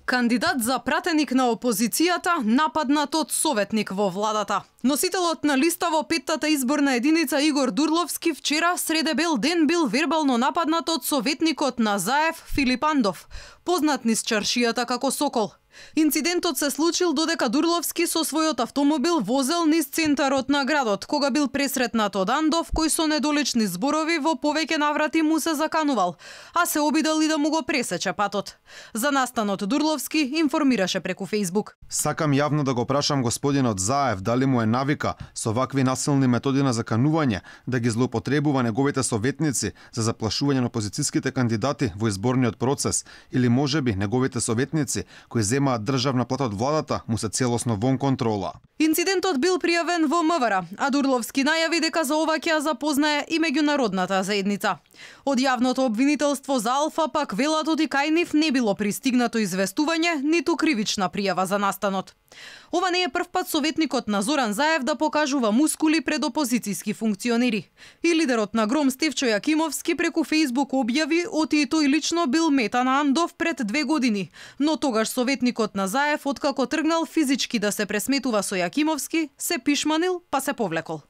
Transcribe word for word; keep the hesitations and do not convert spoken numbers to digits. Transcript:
Кандидат за пратеник на опозицијата нападнат од советник во владата. Носителот на листа во петтата изборна единица Игор Дурловски вчера среде бел ден бил вербално нападнат од советникот на Заев Филип Андов, познат низ чаршијата како Сокол. Инцидентот се случил додека Дурловски со својот автомобил возел низ центарот на градот, кога бил пресретнат од Андов, кој со недолични зборови во повеќе наврати му се заканувал, а се обидел и да му го пресече патот. За настанот Дурловски информираше преку Фејсбук. Сакам јавно да го прашам господинот Заев дали му е навика со вакви насилни методи на заканување да ги злоупотребува неговите советници за заплашување на опозицијските кандидати во изборниот процес, или можеби неговите советници кои земаат државна плата од владата му се целосно вон контрола. Инцидентот бил пријавен во МВР, а Дурловски најави дека за ова ќе ја запознае и меѓународната заедница. Од јавното обвинителство за Алфа пак велат оди кај нив не било пристигнато известување, ниту кривична пријава за настанот. Ова не е првпат советникот на Зоран Заев да покажува мускули пред опозицијски функционери. И лидерот на Гром Стефчо Јакимовски преку Фејсбук објави оти и тој лично бил мета на Андов пред две години, но тогаш советникот на Заев откако тргнал физички да се пресметува со Јакимовски, се пишманил па се повлекол.